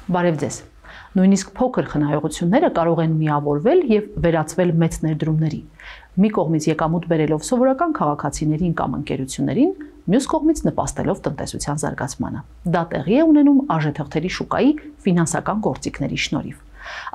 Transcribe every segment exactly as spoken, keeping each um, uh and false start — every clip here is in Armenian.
Բարև ձեզ։ Նույնիսկ փոքր խնայողությունները կարող են միավորվել եւ վերածվել մեծ ներդրումների։ Մի կողմից եկամուտ բերելով սովորական քաղաքացիներին կամ ընկերություններին, մյուս կողմից նպաստելով տնտեսության զարգացմանը։ Դա տեղի է ունենում արժեթղթերի շուկայի ֆինանսական գործիքների շնորհիվ։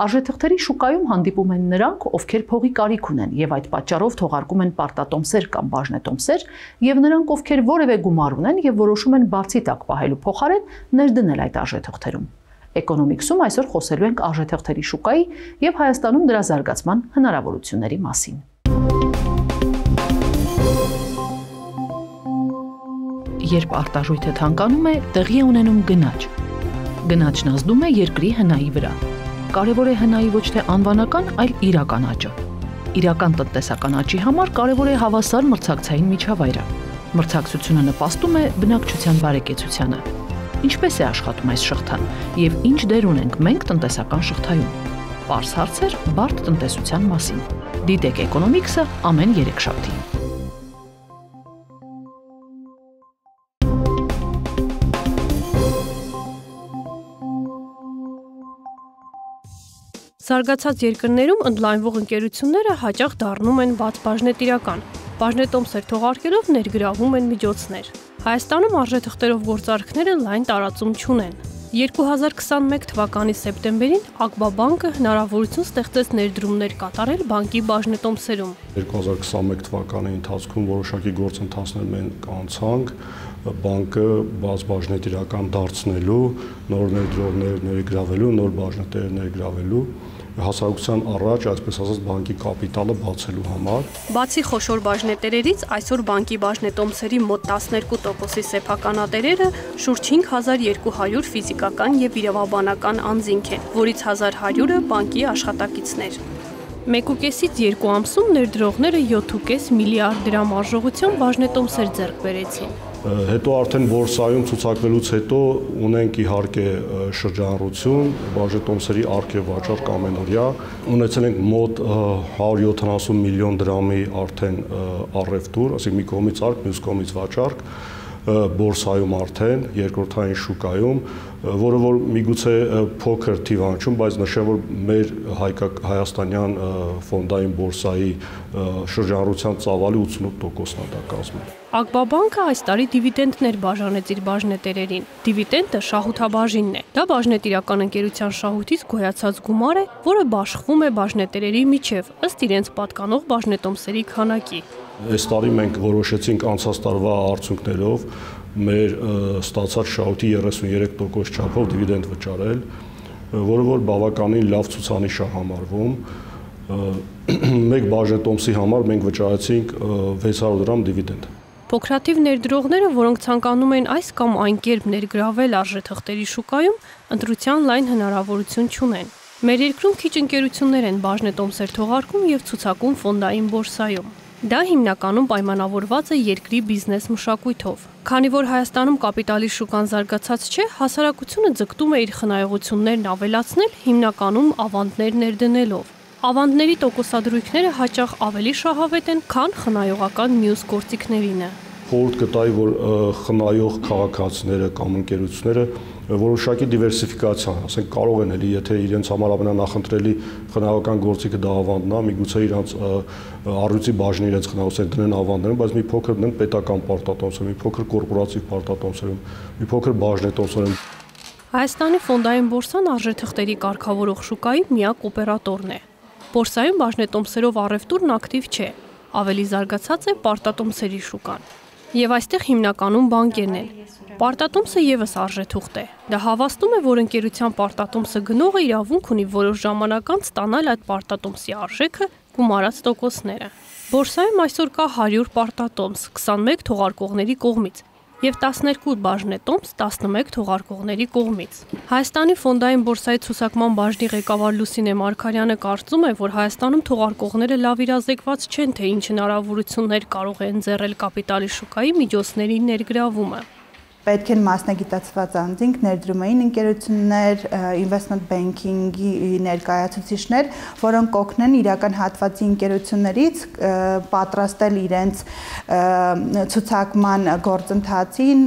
Արժեթղթերի շուկայում հանդիպում են նրանք, ովքեր փողի կարիք ունեն եւ այդ պատճառով թողարկում են պարտատոմսեր կամ բաժնետոմսեր, եւ նրանք, ովքեր որևէ գումար ունեն եւ որոշում են բարձի տակ պահելու փոխարեն ներդնել այդ արժեթղթերում։ Էկոնոմիքսում այսօր խոսելու ենք արժեթղթերի շուկայի եւ Հայաստանում դրա զարգացման հնարավորությունների մասին։ Երբ արտարժույթը թանկանում է, տեղի է ունենում գնաճ։ Գնաճն ազդում է երկրի հնայի վրա։ Կարևոր է հնայի ոչ թե անվանական, այլ իրական աճը։ Իրական տնտեսական աճի համար կարևոր է հավասար մրցակցային միջավայրը։ Մրցակցությունը նպաստում է բնակչության բարեկեցությանը։ Ինչպես է աշխատում այս շղթան եւ ինչ դեր ունենք մենք տնտեսական շղթայում։ Պարզ հարցեր բարդ տնտեսության մասին։ Դիտեք Էկոնոմիքսը ամեն երեքշաբթի։ Զարգացած երկրներում ընդլայնվող ընկերությունները հաճախ դառնում են բաց բաժնետիրական։ Բաժնետոմսեր թողարկելով ներգրավում են միջոցներ։ Հայաստանում արժեթղթերով գործարքները լայն տարածում չունեն։ երկու հազար քսանմեկ թվականի սեպտեմբերին Ակբա բանկը հնարավորություն ստեղծեց ներդրումներ կատարել բանկի բաժնետոմսերում։ երկու հազար քսանմեկ թվականի ընթացքում որոշակի գործընթացներ մենք անցանք բանկը բաց բաժնետիրական դարձնելու, նոր ներդրողներ ներգրավելու, նոր բաժնետեր ներգրավելու, հասարակության առաջ, այսպես ասած, բանկի կապիտալը բացելու համար։ Բացի խոշոր բաժնետերերից, այսօր բանկի բաժնետոմսերի մոտ տասներկու տոկոսի սեփականատերերը շուրջ հինգ հազար երկու հարյուր ֆիզիկական եւ իրավաբանական անձինք են, որից հազար հարյուրը բանկի աշխատակիցներ։ Մեկ ու կեսից երկու ամսում ներդրողները յոթ ու կես միլիարդ դրամ արժողությամբ բաժնետոմսեր ձեռք բերեցին։ Հետո արդեն բորսայում ցուցակվելուց հետո ունենք իհարկե շրջանառություն, բաժնետոմսերի առկե վաճառք ամենօրյա, ունեցել ենք մոտ հարյուր յոթանասուն միլիոն դրամի արդեն առևտուր, ասենք մի կողմից արկ, մյուս կողմից վաճառք, բորսայում արդեն, երկրորդային շուկայում, որը որ միգուցե փոքր թիվ անցում, բայց նշեմ, որ մեր հայաստանյան ֆոնդային բորսայի շրջանառության ծավալի ութսունութ տոկոսն է դա կազմում։ Ակբա բանկը այս տարի դիվիդենտներ բաժանեց իր բաժնետերերին։ Դիվիդենտը շահութաբաժինն է։ Դա բաժնետիրական ընկերության շահույթից գոյացած գումար է, որը բաշխվում է բաժնետերերի միջև, ըստ իրենց պատկանող բաժնետոմսերի քանակի։ Այս տարի մենք որոշեցինք անցած տարվա արդյունքներով մեր ստացած շահույթի երեսունյերեք տոկոս չափով դիվիդենտ վճարել, որը որ բավականին լավ ցուցանիշ է համարվում։ Մեկ բաժնետոմսի համար մենք վճարեցինք վեց հարյուր դրամ դիվիդենտ։ Փոքրաթիվ ներդրողները, որոնք ցանկանում են այս կամ այն կերպ ներգրավել արժեթղթերի շուկայում, ընտրության լայն հնարավորություն չունեն։ Մեր երկրում քիչ ընկերություններ են բաժնետոմսեր թողարկում եւ ցուցակում ֆոնդային բորսայում։ Դա հիմնականում պայմանավորված է երկրի բիզնես մշակույթով։ Քանի որ Հայաստանում կապիտալի շուկան զարգացած չէ, հասարակությունը ձգտում է իր խնայողություններն ավելացնել հիմնականում ավանդներ ներդնելով։ Ավանդների տոկոսադրույքները հաճախ ավելի շահավետ են, քան խնայողական մյուս գործիքներինը։ Խորհուրդ կտայի, որ խնայող քաղաքացիները կամ ընկերությունները որոշակի դիվերսիֆիկացիա, ասենք կարող են էլի, եթե իրենց համար ամենանախընտրելի խնայողական գործիքը դա ավանդն է, միգուցե իրանց առյուծի բաժնի իրենց խնայողության դնեն ավանդներում, բայց մի փոքր դնեն պետական պարտատոմսերում, մի փոքր կորպորատիվ պարտատոմսերում, մի փոքր բաժնետոմսերում։ Հայաստանի ֆոնդային բորսան արժեթղթերի կարգավորող շուկայի միակ օպերատորն է։ Բորսայում բաժնետոմսերով առևտուրն ակտիվ չէ, ավելի զարգացած է պարտատոմսերի շուկան։ Եվ այստեղ հիմնականում բանկերն են։ Պարտատոմսը եւս արժեթուղթ է։ Դա հավաստում է, որ ընկերության պարտատոմսը գնողը իրավունք ունի որոշ ժամանակ անց ստանալ այդ պարտատոմսի արժեքը գումարած տոկոսները։ Բորսայում այսօր կա հարյուր պարտատոմս քսանմեկ թողարկողների կողմից եւ տասներկու բաժնետոմս տասնմեկ թողարկողների կողմից։ Հայաստանի ֆոնդային բորսայի ցուցակման բաժնի ղեկավար Լուսինե Մարգարյանը կարծում է, որ Հայաստանում թողարկողները լավ իրազեկված չեն, թե ինչ հնարավորություններ կարող է ընձեռել կապիտալի շուկայի միջոցների ներգրավումը։ Պետք են մասնագիտացված անձինք, ներդրումային ընկերություններ, investment banking-ի ներկայացուցիչներ, որոնք կօգնեն իրական հատվածի ընկերություններից պատրաստել իրենց ցուցակման գործընթացին,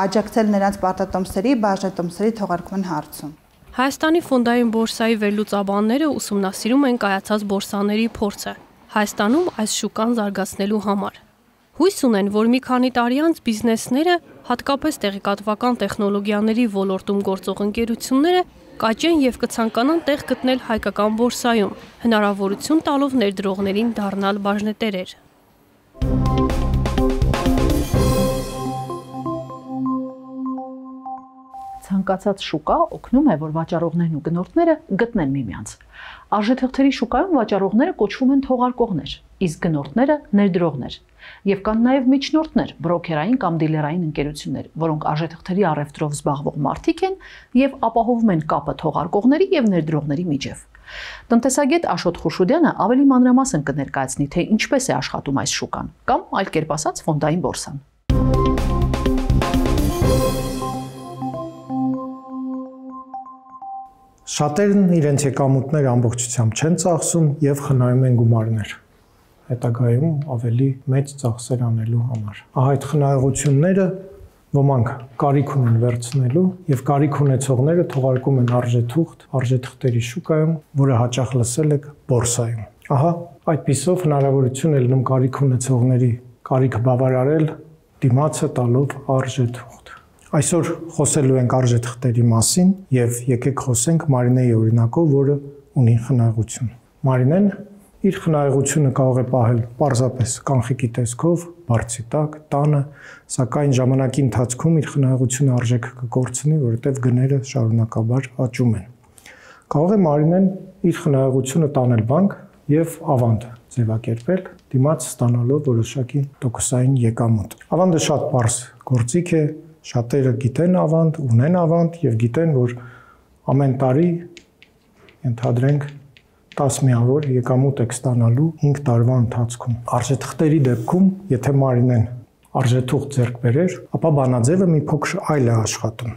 աջակցել նրանց պարտատոմսերի, բաժնետոմսերի թողարկման հարցում։ Հայաստանի ֆոնդային բորսայի վերլուծաբանները ուսումնասիրում են կայացած բորսաների փորձը Հայաստանում այս շուկան զարգացնելու համար։ Հույս ունեն, որ մի քանի տարի անց բիզնեսները, հատկապես տեղեկատվական տեխնոլոգիաների ոլորտում գործող ընկերությունները կաճեն եւ կցանկանան տեղ գտնել հայկական բորսայում, հնարավորություն տալով ներդրողներին դառնալ բաժնետերեր։ Ցանկացած շուկա օգնում է, որ վաճառողներն ու գնորդները գտնեն միմյանց։ Արժեթղթերի շուկայում վաճառողները կոչվում են թողարկողներ, իսկ գնորդները ներդրողներ։ Եվ կան նաև միջնորդներ, բրոքերային կամ դիլերային ընկերություններ, որոնք արժեթղթերի առևտրով զբաղվող մարդիկ են եւ ապահովում են կապը թողարկողների եւ ներդրողների միջև։ Տնտեսագետ Աշոտ Խուշուդյանը ավելի մանրամասն կներկայացնի, թե ինչպես է աշխատում այս շուկան, կամ այլ կերպ ասած ֆոնդային բորսան։ Շատերն իրենց եկամուտները ամբողջությամբ չեն ծախսում եւ խնայում են գումարներ, հետագայում ավելի մեծ ծախսեր անելու համար։ Ահա այդ խնայողությունները ոմանք կարիք ունեն վերցնելու եւ կարիք ունեցողները թողարկում են արժեթուղթ, արժեթղթերի շուկայում, որը հաճախ լսել եք բորսայում։ Ահա այդպիսով հնարավորություն է լինում կարիք ունեցողների կարիքը բավարարել դիմացը տալով արժեթուղթ։ Այսօր խոսելու ենք արժեթղթերի մասին եւ եկեք խոսենք Մարինեի օրինակով, որը ունի խնայողություն։ Մարինեն իր խնայողությունը կարող է պահել պարզապես կանխիկի տեսքով, բարձի տակ, տանը, սակայն ժամանակի ընթացքում իր խնայողությունը արժեքը կկորցնի, որովհետեւ գները շարունակաբար աճում են։ Կարող է Մարինեն իր խնայողությունը տանել բանկ եւ ավանդ ձևակերպել, դիմաց ստանալով որոշակի տոկոսային եկամուտ։ Ավանդը շատ պարզ գործիք է, շատերը գիտեն ավանդ, ունեն ավանդ եւ գիտեն, որ ամեն տարի ընդհանրենք տասը միավոր եկամուտ եք ստանալու հինգ տարվա ընթացքում։ Արժեթղթերի դեպքում, եթե Մարինեն արժեթուղթ ձեռք բերեր, ապա բանաձևը մի փոքր այլ է աշխատում։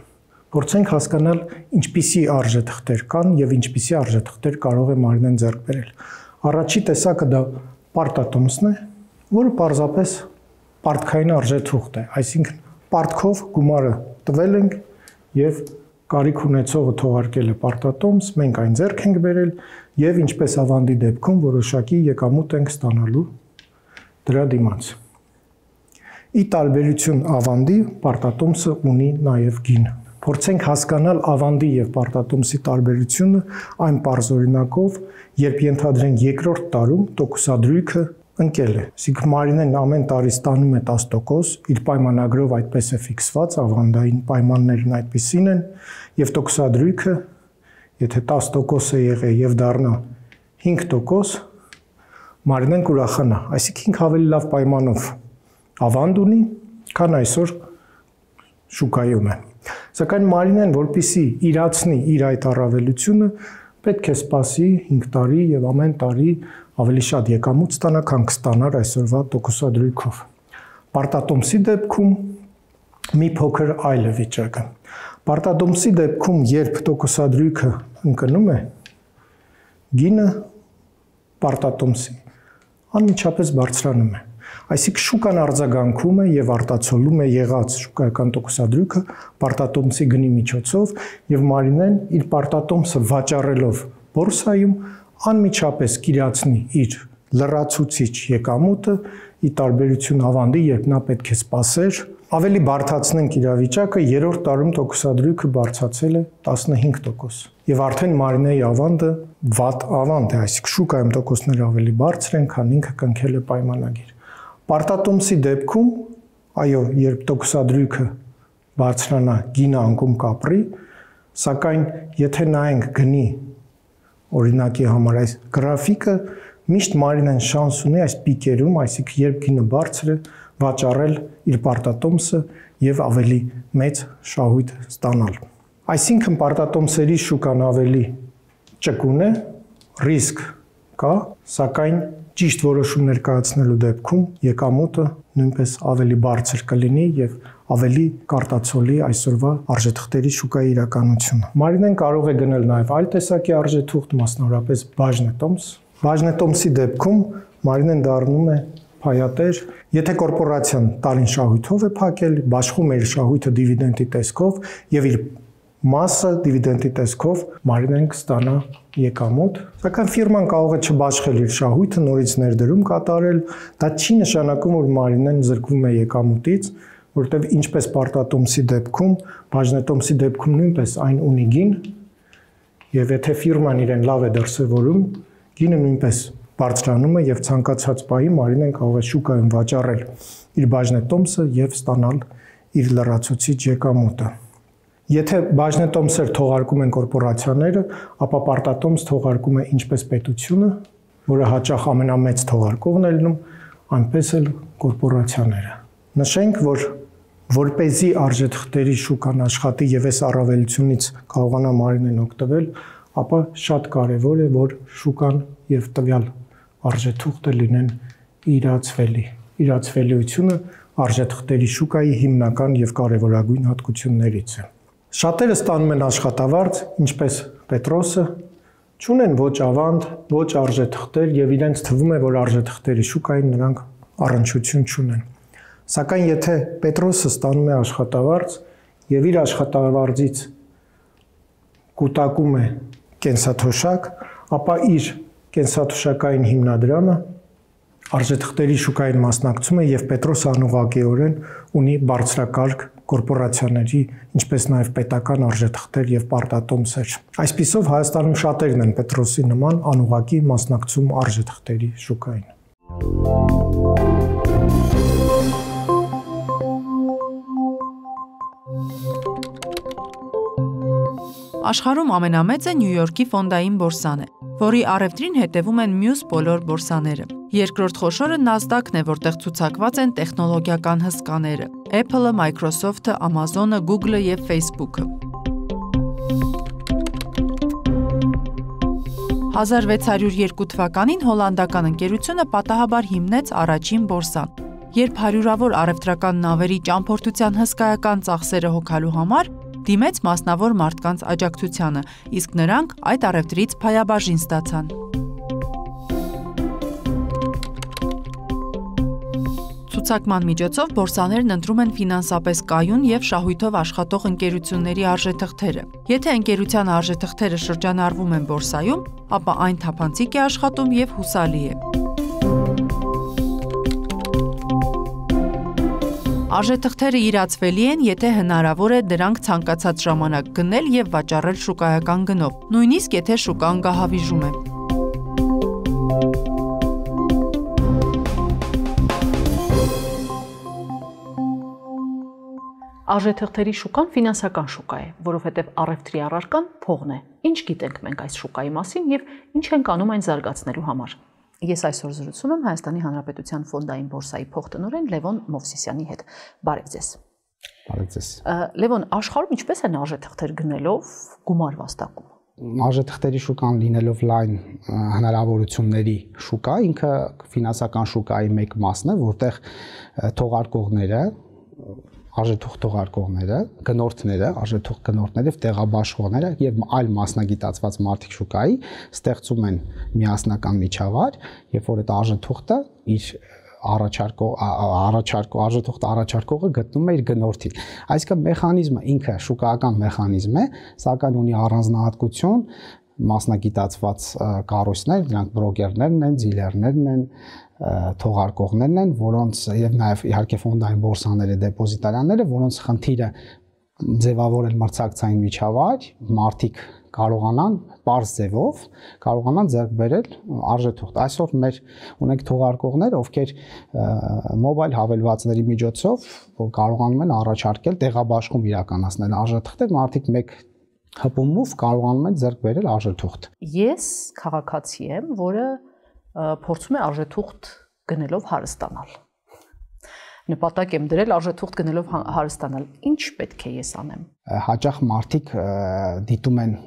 Փորձենք հասկանալ ինչպիսի արժեթղթեր կան եւ ինչպիսի արժեթղթեր կարող է Մարինեն ձեռք բերել։ Առաջի տեսակը դա պարտատոմսն է, որը պարզապես պարտքային արժեթուղթ է, այսինքն պարտքով գումարը տվել ենք եւ կարիք ունեցողը թողարկել է պարտատոմս, մենք այն ձեռք ենք բերել եւ ինչպես ավանդի դեպքում որոշակի եկամուտ ենք ստանալու դրա դիմաց։ Ի տարբերություն ավանդի, պարտատոմսը ունի նաեւ գին։ Փորձենք հասկանալ ավանդի եւ պարտատոմսի տարբերությունը այն պարզ օրինակով, երբ ենթադրենք երկրորդ տարում տոկոսադրույքը ընկել է։ Այսինքն Մարինեն ամեն տարի ստանում է տասը տոկոս, իր պայմանագրով այդպես է ֆիքսված, ավանդային պայմաններն այդպիսին են, եւ տոկոսադրույքը, եթե տասը տոկոս է եղել եւ դառնա հինգ տոկոս, Մարինեն կուրախանա, այսինքն ավելի լավ պայմանով ավանդ ունի, քան այսօր շուկայում է։ Սակայն Մարինեն, որպեսզի իրացնի իր այդ առավելությունը, պետք է սպասի հինգ տարի եւ ամեն տարի ավելի շատ եկամուտ ստանա, քան կստանար այսօրվա տոկոսադրույքով։ Պարտատոմսի դեպքում մի փոքր այլ է վիճակը։ Պարտատոմսի դեպքում, երբ տոկոսադրույքը ընկնում է, գինը պարտատոմսի անմիջապես բարձրանում է։ Այսինքն շուկան արձագանքում է եւ արտացոլում է եղած շուկայական տոկոսադրույքը պարտատոմսի գնի միջոցով եւ Մարինեն իր պարտատոմսը վաճառելով բորսայում անմիջապես կիրացնի իր լրացուցիչ եկամուտը, ի տարբերություն ավանդի, երբ նա պետք է սպասեր, ավելի բարդացնենք իրավիճակը, երրորդ տարում տոկոսադրույքը բարձրացել է տասնհինգ տոկոս։ Եվ արդեն Մարինեի ավանդը վատ ավանդ է, այսինքն շուկայում տոկոսները ավելի բարձր են, քան ինքը կնքել է պայմանագիր։ Պարտատոմսի դեպքում, այո, երբ տոկոսադրույքը բարձրանա, գինը անկում կապրի, սակայն եթե նայենք գնի օրինակի համար այս գրաֆիկը, միշտ Մարինեն շանս ունի այս պիկերում, այսինքն երբ գինը բարձր է, վաճառել իր պարտատոմսը եւ ավելի մեծ շահույթ ստանալ։ Այսինքն պարտատոմսերի շուկան ավելի ճկուն է, ռիսկ կա, սակայն ճիշտ որոշումներ կայացնելու դեպքում եկամուտը նույնպես ավելի բարձր կլինի եւ ավելի կարտացոլի այսօրվա արժեթղթերի շուկայի իրականությունը։ Մարինեն կարող է գնել նաեւ այլ տեսակի արժեթուղթ, մասնավորապես բաժնետոմս։ Բաժնետոմսի դեպքում Մարինեն դառնում է փայատեր, եթե կորպորացիան տարին շահույթով է փակել, բաշխում է իր շահույթը դիվիդենդի տեսքով եւ իր մասը դիվիդենդի տեսքով Մարինեն կստանա եկամուտ, սակայն ֆիրման կարող է չբաշխել իր շահույթը, նորից ներդրում կատարել, դա չի նշանակում, որ Մարինեն զրկվում է եկամուտից, որտեղ ինչպես պարտատոմսի դեպքում, բաժնետոմսի դեպքում նույնպես այն ունի գին, եւ եթե ֆիրման իրեն լավ է դրսևորում, գինը նույնպես բարձրանում է եւ ցանկացած պահի Մարինեն կարող է շուկայում վաճառել իր բաժնետոմսը եւ ստանալ իր լրացուցիչ եկամուտը։ Եթե բաժնետոմսեր թողարկում են կորպորացիաները, ապա պարտատոմս թողարկում է ինչպես պետությունը, որը հաճախ ամենամեծ թողարկողն է լինում, այնպես էլ կորպորացիաները։ Նշենք, որ որպեսզի արժեթղթերի շուկան աշխատի եւ այս առավելությունից կարողանա Մարինեն օգտվել, ապա շատ կարեւոր է, որ շուկան եւ տվյալ արժեթղթը լինեն իրացվելի։ Իրացվելիությունը արժեթղթերի շուկայի հիմնական եւ կարեւորագույն հատկություններից է։ Շատերը ստանում են աշխատավարձ, ինչպես Պետրոսը, չունեն ոչ ավանդ, ոչ արժեթղթեր եւ իրենց թվում է, որ արժեթղթերի շուկային նրանք առնչություն չունեն։ Սակայն եթե Պետրոսը ստանում է աշխատավարձ եւ իր աշխատավարձից կուտակում է կենսաթոշակ, ապա իր կենսաթոշակային հիմնադրամը արժեթղթերի շուկային մասնակցում է եւ Պետրոսը անուղղակիորեն ունի բարձրակարգ կորպորացիաների, ինչպես նաև պետական արժեթղթեր եւ պարտատոմսեր։ Այսպիսով Հայաստանում շատերն են Պետրոսի նման անուղղակի մասնակցում արժեթղթերի շուկային։ Աշխարհում ամենամեծը Նյու Յորքի ֆոնդային բորսան է, որի առևտրին հետևում են մյուս բոլոր բորսաները։ Երկրորդ խոշորը Nasdaq-ն է, որտեղ ցուցակված են տեխնոլոգիական հսկաները՝ Apple-ը, Microsoft-ը, Amazon-ը, Google-ը եւ Facebook-ը։ հազար վեց հարյուր երկու թվականին հոլանդական ընկերությունը պատահաբար հիմնեց առաջին բորսան։ Երբ հարյուրավոր առևտրական նավերի ճամփորդության հսկայական ծախսերը հոգալու համար դիմեց մասնավոր մարդկանց աջակցությանը, իսկ նրանք այդ առևտրից փայաբաժին ստացան։ Ցուցակման միջոցով բորսաներն ընտրում են ֆինանսապես կայուն եւ շահույթով աշխատող ընկերությունների արժեթղթերը։ Եթե ընկերության արժեթղթերը շրջանառվում են բորսայում, ապա այն թափանցիկ է աշխատում եւ հուսալի է։ Արժեթղթերը իրացվելի են, եթե հնարավոր է դրանք ցանկացած ժամանակ գնել եւ վաճառել շուկայական գնով, նույնիսկ եթե շուկան գահավիժում է։ Արժեթղթերի շուկան ֆինանսական շուկա է, որովհետև առևտրի առարկան փողն է։ Ինչ գիտենք մենք այս շուկայի մասին եւ ինչ ենք անում այն զարգացնելու համար։ Ես այսօր զրուցում եմ Հայաստանի Հանրապետության ֆոնդային բորսայի փոխտնօրեն Լևոն Մովսիսյանի հետ։ Բարև ձեզ։ Բարև ձեզ։ Լևոն, աշխարհում ինչպես են արժեթղթեր գնելով գումար վաստակում։ Արժեթղթերի շուկան լինելով լայն հնարավորությունների շուկա, ինքը ֆինանսական շուկայի մեկ մասն է, որտեղ թողարկողները, արժեթուղթ թողարկողները, գնորդները, արժեթուղթ գնորդները, տեղաբաշխողները եւ այլ մասնագիտացված մարդիկ շուկայի ստեղծում են միասնական միջավայր, երբ որ այդ արժեթուղթը իր առաջարկող առաջարկող արժեթուղթ առաջարկողը գտնում է իր գնորդին։ Այսինքն մեխանիզմը ինքը շուկայական մեխանիզմ է, սակայն ունի առանձնահատկություն, մասնագիտացված կառույցներ, դրանք բրոկերներն են, դիլերներն են, թողարկողներն են, որոնց եւ նաեւ իհարկե ֆոնդային բորսաները, դեպոզիտարյանները, որոնց խնդիրը ձևավորել մրցակցային միջավայր, մարդիկ կարողանան բարձ ձևով կարողանան ձեռք բերել արժեթուղթ։ Այսօր մեր ունենք թողարկողներ, ովքեր մոբայլ հավելվածների միջոցով կարողանում են առաջարկել տեղաբաշխում իրականացնել արժեթղթեր, մարդիկ մեկ հպումով կարողանում են ձեռք բերել արժեթուղթ։ Ես քաղաքացի եմ, որը փորձում է արժեթուղթ գնելով հարստանալ։ Նպատակ եմ դրել արժեթուղթ գնելով հարստանալ։ Ինչ պետք է ես անեմ։ Հաճախ մարդիկ դիտում են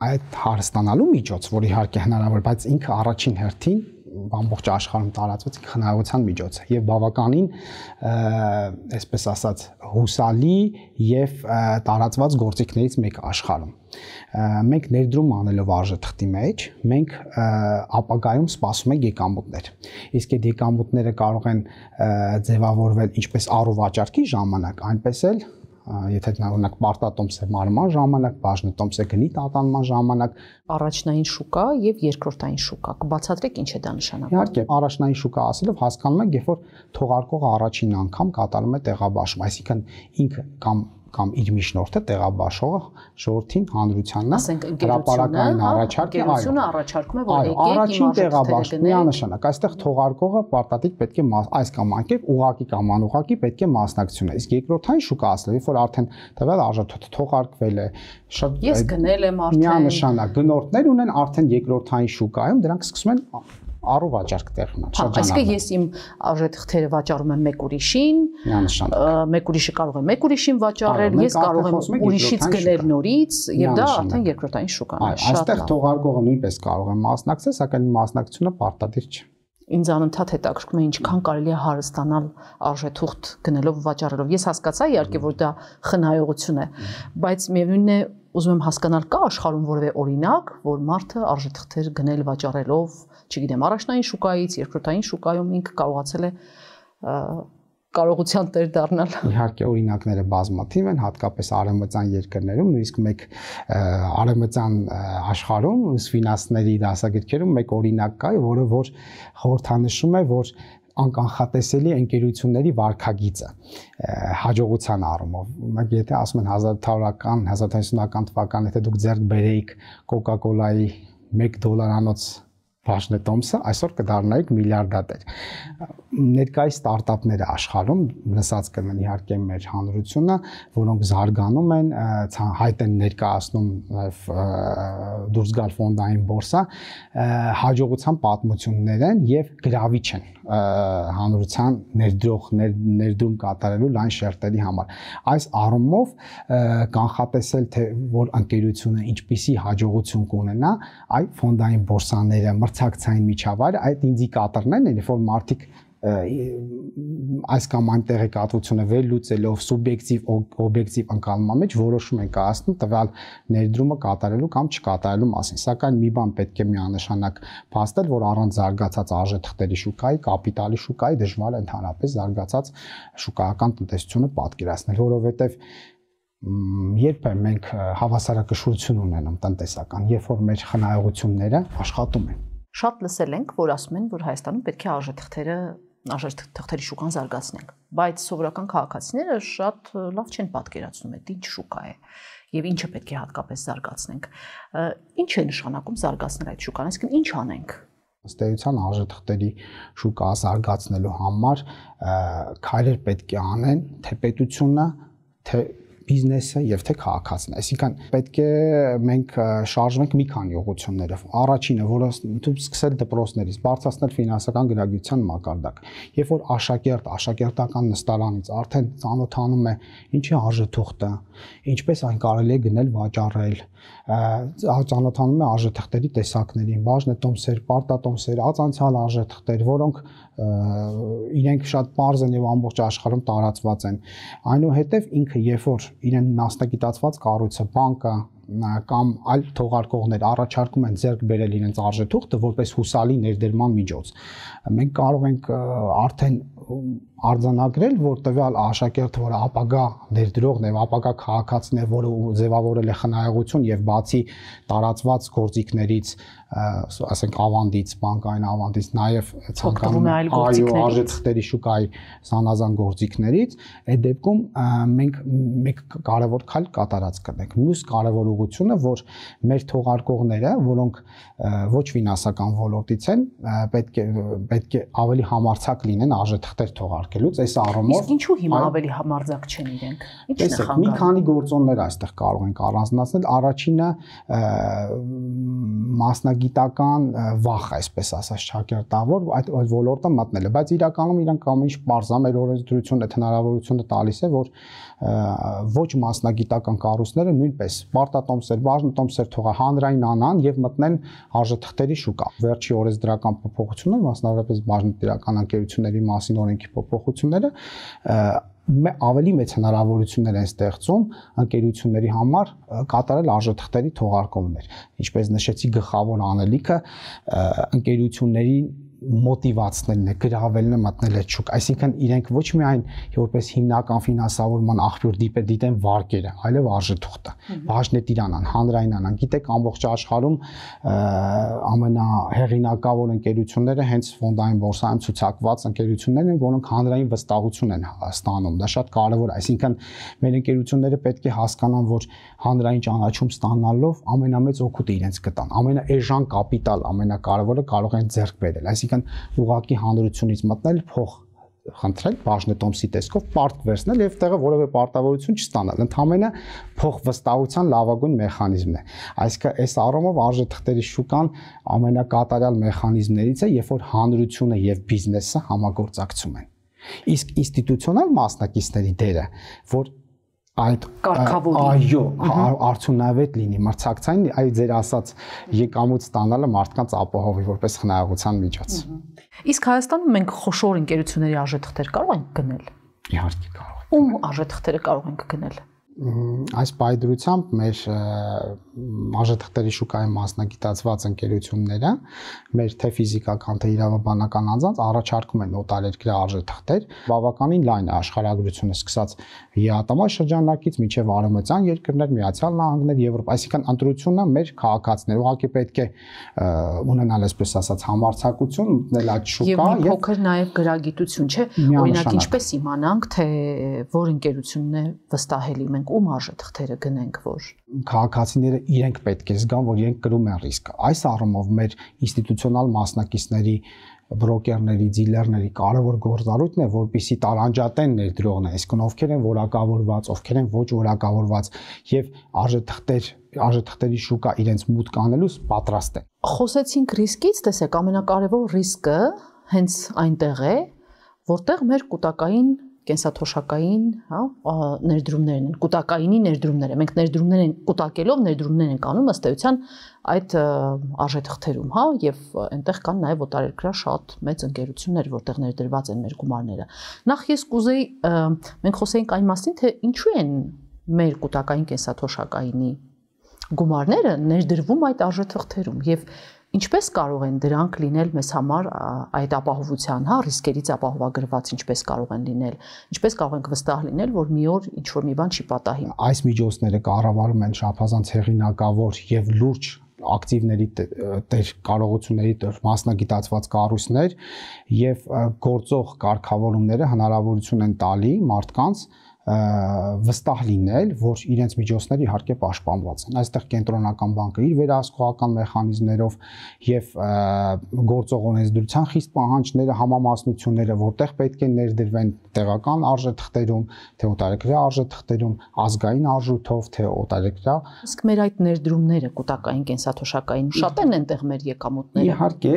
այդ հարստանալու միջոց, որ իհարկե հնարավոր, բայց ինքը առաջին հերթին ամբողջ աշխարհում տարածված խնայողության միջոց է եւ բավականին այսպես ասած հուսալի եւ տարածված գործիքներից մեկ աշխարհում։ Մենք ներդրում անելով արժեթղթի մեջ, մենք ապագայում սպասում ենք եկամուտներ։ Իսկ այդ եկամուտները կարող են ձևավորվել ինչպես առուվաճառքի ժամանակ, այնպես էլ եթե օրինակ պարտատոմս է մարման ժամանակ, բաժնետոմս է գնի տատանման ժամանակ, առաջնային շուկա եւ երկրորդային շուկա։ Կբացատրեք ինչ է դա նշանակում։ Իհարկե, առաջնային շուկա ասելով հասկանում ենք, երբ որ թողարկողը առաջին անգամ կատարում է տեղաբաշխում, այսինքն ինքը կամ կամ իր միջնորդը տեղաբաշխողը ժողովրդին հանրությանն է հրապարակային առաջարկը, այո, առաջարկում է, որ եկեք առաջին տեղաբաշխում միանշանակ, այստեղ թողարկողը պարտադիր պետք է այս կամ անկերպ ուղղակի կամ անուղղակի պետք է մասնակցություն է։ Իսկ երկրորդային շուկա ասելով, երբ որ արդեն տվյալ արժեթոթը թողարկվել է, շատ ես գնել եմ արդեն միանշանակ գնորդներ ունեն արդեն երկրորդային շուկայում, դրանք սկսում են առու վաճառք տեղ ունենալ, շրջանառվել։ Այսինքն ես իմ արժեթղթերը վաճառում եմ մեկ ուրիշին, մեկ ուրիշը կարող է մեկ ուրիշին վաճառել, ես կարող եմ ուրիշից գնել նորից, եւ դա արդեն երկրորդային շուկան է։ Այստեղ թողարկողը նույնպես կարող է մասնակցել, սակայն մասնակցությունը պարտադիր չէ։ Ինձ անընդհատ հետաքրքրում է ինչքան կարելի է հարստանալ արժեթուղթ գնելով վաճառելով։ Ես հասկացա իհարկե, որ դա խնայողություն է, բայց միևնույնն է ուզում եմ հասկանալ կա աշխարհում որևէ օրինակ, որ մարդը արժեթղթեր գնել վաճառելով, չգիտեմ, առաջնային շուկայից, երկրորդային շուկայում ինքը կարողացել է կարողության տեր դառնալ։ Իհարկե օրինակները բազմաթիվ են, հատկապես արևմտյան երկրներում, նույնիսկ մեկ արևմտյան աշխարհում ֆինանսների դասագրքերում մեկ օրինակ կա, որը որ խորհրդանշում է, որ անկանխատեսելի ընկերությունների վարքագիծը հաջողության առումով։ Մենք եթե ասում են հազար թվական, հազար թվական ութանասունական թվական, եթե դուք ձեռք բերեիք Coca-Cola-ի մեկ դոլարանոց բաժնետոմսը, այսօր կդառնայիք միլիարդատեր։ Ներկայիս ստարտափները աշխարհում լսած կլինեն իհարկե մեր հանրությունը, որոնք զարգանում են, հայտ են ներկայացնում դուրս գալ ֆոնդային բորսա, հաջողության պատմություններ են եւ գրավիչ են հանրության ներդրող ներդրում կատարելու լայն շերտերի համար։ Այս առումով կանխատեսել թե որ ընկերությունը ինչպիսի հաջողություն կունենա, այ ֆոնդային բորսաները, մրցակցային միջավայրը, այդ ինդիկատորներն են, որ մարդիկ այս կամ այն տեղեկատվությունը վերլուծելով սուբյեկտիվ օբյեկտիվ ընկալման մեջ որոշում են կայացնում տվյալ ներդրումը կատարելու կամ չկատարելու մասին։ Սակայն մի բան պետք է միանշանակ փաստել, որ առանց զարգացած արժեթղթերի շուկայի, կապիտալի շուկայի դժվար է ընդհանրապես զարգացած շուկայական տնտեսությունը պատկերացնել, որովհետև երբ մենք հավասարակշռություն ունենում տնտեսական, երբ որ մեր խնայողությունները աշխատում են։ Շատ լսել ենք, որ ասում են, որ Հայաստանում պետք է արժեթղթերը արժեթղթերի շուկան զարգացնենք, բայց սովորական քաղաքացիները շատ լավ չեն պատկերացնում այդ ինչ շուկա է եւ ինչը պետք է հատկապես զարգացնենք։ Ինչ է նշանակում զարգացնել այդ շուկան, այսինքն ինչ անենք։ Ըստ էության արժեթղթերի շուկա զարգացնելու համար քայլեր պետք է անեն թե պետությունը, թե բիզնեսը եւ թե քաղաքացին։ Այսինքն պետք է մենք շարժվենք մի քանի ուղղություններով։ Առաջինը, որը սկսել դպրոցներից, բարձրացնել ֆինանսական գրագիտության մակարդակ։ Երբ որ աշակերտ, աշակերտական նստարանից արդեն ծանոթանում է ինչի արժեթուղթը, ինչպես այն կարելի է գնել վաճառել, ծանոթանում է արժեթղթերի տեսակներին, բաժնետոմսեր, պարտատոմսեր, ածանցյալ արժեթղթեր, որոնք իրենք շատ པարզ են եւ ամբողջ աշխարհում տարածված են։ Այնուհետեւ ինքը երբ որ իրեն մասնագիտացված կառույցը, բանկը կամ այլ թողարկողներ առաջարկում են ձեռք բերել իրենց արժեթուղթը որպես հուսալի ներդրման միջոց, մենք կարող ենք արդեն արձանագրել, որ տվյալ աշակերտը, որը ապագա ներդրողն է, ապագա քաղաքացին է, որը ձևավորել է խնայողություն եւ բացի տարածված գործիքներից, ասենք ավանդից, բանկային ավանդից, նաեւ ցանկանում է այո արժեթղթերի շուկայի զանազան գործիքներից, այդ դեպքում մենք մեկ կարևոր քայլ կատարած կնենք։ Մյուս կարևոր ուղղությունը, որ մեր թողարկողները, որոնք ոչ ֆինանսական ոլորտից են, պետք է պետք է ավելի համարձակ լինեն արժեթղթեր թողարկելուց, այս առումով։ Իսկ ինչու հիմա ավելի համարձակ չեն իրենք։ Ի՞նչն է խանգարում։ Մի քանի գործոններ այստեղ կարող ենք առանձնացնել։ Առաջինը մասնագիտական վախ, այսպես ասած, շակերտավոր այդ ոլորտը մտնելը, բայց իրականում իրանք ամեն ինչ բարձր մեր օրենսդրությունը հնարավորությունը տալիս է, որ ոչ մասնագիտական կառույցները նույնպես պարտատոմսեր, բաժնետոմսեր թողա հանրային անան եւ մտնեն արժեթղթերի շուկա։ Վերջի օրենսդրական փոփոխությունները, մասնավորապես բաժնետիրական ընկերությունների մասին օրենքի փոփոխությունները ավելի մեծ հնարավորություններ են ստեղծում ընկերությունների համար կատարել արժեթղթերի թողարկումներ։ Ինչպես նշեցի, գլխավոր անելիքը ընկերությունների մոտիվացնելն է, գրավելն է մտնել այդ շուկ, այսինքն իրենք ոչ միայն որպես հիմնական ֆինանսավորման աղբյուր դիտեն վարկերը, այլև արժեթուղթը, բաժնետիրանան, հանրայնանան, գիտեք ամբողջ աշխարհում ամենահեղինակավոր ընկերությունները հենց ֆոնդային բորսայում ցուցակված ընկերություններն են, որոնք հանրային վստահություն են ստանում, դա շատ կարևոր է, այսինքն մեր ընկերությունները պետք է հասկանան, որ հանրային ճանաչում ստանալով ամենամեծ օգուտը իրենց կտան, ամենաէժան կապիտալ, ամենակարևորը կարող են ձեռք բերել, այսինքն ուղղակի հանրությունից մտնել, փող խնդրել, բաժնետոմսի տեսքով պարտք վերցնել եւ տեղը որևէ պարտավորություն չստանալ, ընդհանրապես փող վստահության լավագույն մեխանիզմն է, այսինքն այս առումով արժեթղթերի շուկան ամենակատարյալ մեխանիզմներից է, երբ որ հանրությունը եւ բիզնեսը համագործակցում են, իսկ ինստիտուցիոնալ մասնակիցների դերը, որ այդ այո, արդյունավետ լինի, մրցակցային, այ ձեր ասած եկամուտ ստանալը մարդկանց ապահովի որպես խնայողության միջոց։ Իսկ Հայաստանում մենք խոշոր ընկերությունների արժեթղթեր կարող ենք գնել։ Իհարկե կարող ենք։ Ում արժեթղթերը կարող ենք գնել։ Այս պայդրությամբ մեր արժեթղթերի շուկայի մասնագիտացված ընկերությունները, մեր թե ֆիզիկական, թե իրավաբանական անձանց առաջարկում են օտարերկրյա արժեթղթեր, բավականին լայն է աշխարհագրությունը սկսած ԵԱՏՄ շրջանակից մինչև արևմտյան երկրներ, Միացյալ Նահանգներ, Եվրոպա, այսինքն ընտրությունը մեր քաղաքացիներ, ուղղակի պետք է ունենալ, այսպես ասած, համարձակություն, մտնել այդ շուկա եւ մի փոքր նաեւ գրագիտություն, չէ՞, օրինակ ինչպես իմանանք, թե որ ընկերությունն է վստահելի, մենք ում արժեթղթերը գնենք, որ քաղաքացիները իրենք պետք է զգան, որ իրենք կրում են ռիսկ։ Այս առումով մեր ինստիտուցիոնալ մասնակիցների, բրոկերների, դիլերների կարևոր գործառույթն է, որպեսզի տարանջատեն ներդրողները, այսինքն ովքեր են որակավորված, ովքեր են ոչ որակավորված եւ արժեթղթեր, արժեթղթերի շուկա իրենց մուտք անելուց պատրաստ են։ Խոսեցինք ռիսկից, տեսեք, ամենակարևոր ռիսկը հենց այնտեղ է, որտեղ մեր կൂട്ടակային կենսաթոշակային, հա, ներդրումներն են, կൂട്ടակայինի ներդրումները։ Մենք ներդրումներ են կൂട്ടակելով, ներդրումներ են անում ըստ էության այդ արժեթղթերում, հա, եւ այնտեղ կան նաեւ օտարերկրյա շատ մեծ ընկերություններ, որտեղ ներդրված են մեր գումարները։ Նախ ես կուզեի մենք խոսեինք այն մասին, թե ինչու են մեր կൂട്ടակային կենսաթոշակայինի գումարները ներդրվում այդ արժեթղթերում եւ ինչպես կարող են դրանք լինել մեզ համար այդ ապահովության, հա, ռիսկերից ապահովագրված, ինչպես կարող են լինել, ինչպես կարող ենք վստահ լինել, որ մի օր ինչ որ մի բան չի պատահի։ Այս միջոցները կառավարում են շաբազանց հեղինակավոր եւ լուրջ ակտիվների տեր կարողությունների տեր մասնագիտացված կառույցներ եւ գործող կարգավորումները հնարավորություն են տալի մարդկանց վստահ լինել, որ իրենց միջոցները իհարկե պաշտպանված են։ Այստեղ կենտրոնական բանկը իր վերահսկողական մեխանիզմներով եւ գործող օրենսդրության խիստ պահանջները, համամասնությունները, որտեղ պետք է ներդրվեն տեղական արժեթղթերում, թե օտարերկրյա արժեթղթերում, ազգային արժույթով, թե օտարերկրյա։ Իսկ մեր այդ ներդրումները կൂട്ടակային կենսաթոշակային շատ են այնտեղ մեր եկամուտները։ Իհարկե,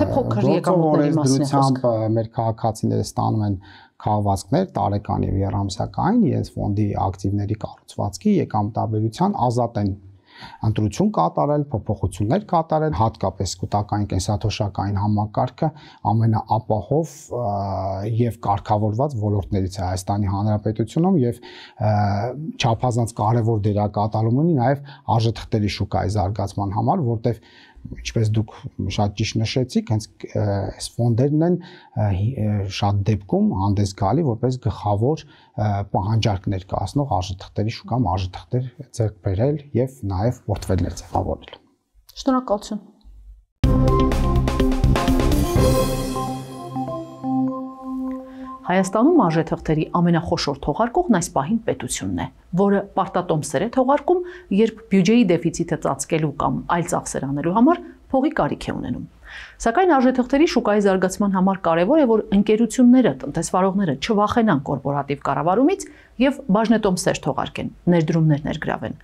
թե փոքր եկամուտների մասին է խոսքը։ Մեր քաղաքացիները ստանում են քաղվածքներ տարեկան եւ երամսյակային իրենց ֆոնդի ակտիվների կառուցվածքի եկամտաբերության ազատ են ընտրություն կատարել, փոփոխություններ կատարել, հատկապես կൂട്ടակային կենսաթոշակային համակարգը ամենաապահով եւ կարգավորված ոլորտներից է Հայաստանի Հանրապետությունում եւ չափազանց կարեւոր դերակատարում ունի նաեւ արժեթղթերի շուկայի զարգացման համար, որտեղ ինչպես դուք շատ ճիշտ նշեցիք, հենց այս ֆոնդերն են շատ դեպքում հանդես գալի որպես գլխավոր պահանջարկ ներկայացնող արժեթղթերի շուկայում արժեթղթեր ձեռք բերել եւ նաեւ պորտֆելներ ձևավորել։ Շնորհակալություն։ Հայաստանում արժեթղթերի ամենախոշոր թողարկողն այս պահին պետությունն է, որը պարտատոմսեր է թողարկում, երբ բյուջեի դեֆիցիտը ծածկելու կամ այլ ծախսեր անելու համար փողի կարիք է ունենում։ Սակայն արժեթղթերի շուկայի զարգացման համար կարևոր է, որ ընկերությունները, տնտեսվարողները չվախենան կորպորատիվ կառավարումից եւ բաժնետոմսեր թողարկեն, ներդրումներ ներգրավեն։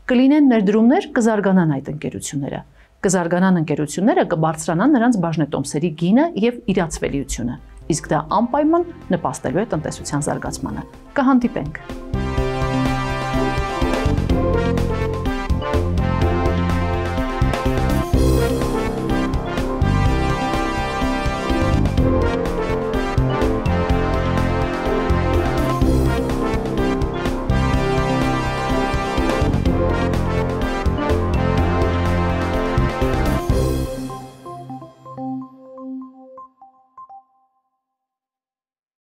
Կլինեն ներդրումներ, կզարգանան այդ ընկերությունները։ Կզարգանան ընկերությունները, կբարձրանան նրանց բաժնետոմսերի գինը եւ իրացվելիությունը։ Իսկ դա անպայման նպաստելու է տնտեսության զարգացմանը։ Կհանդիպենք։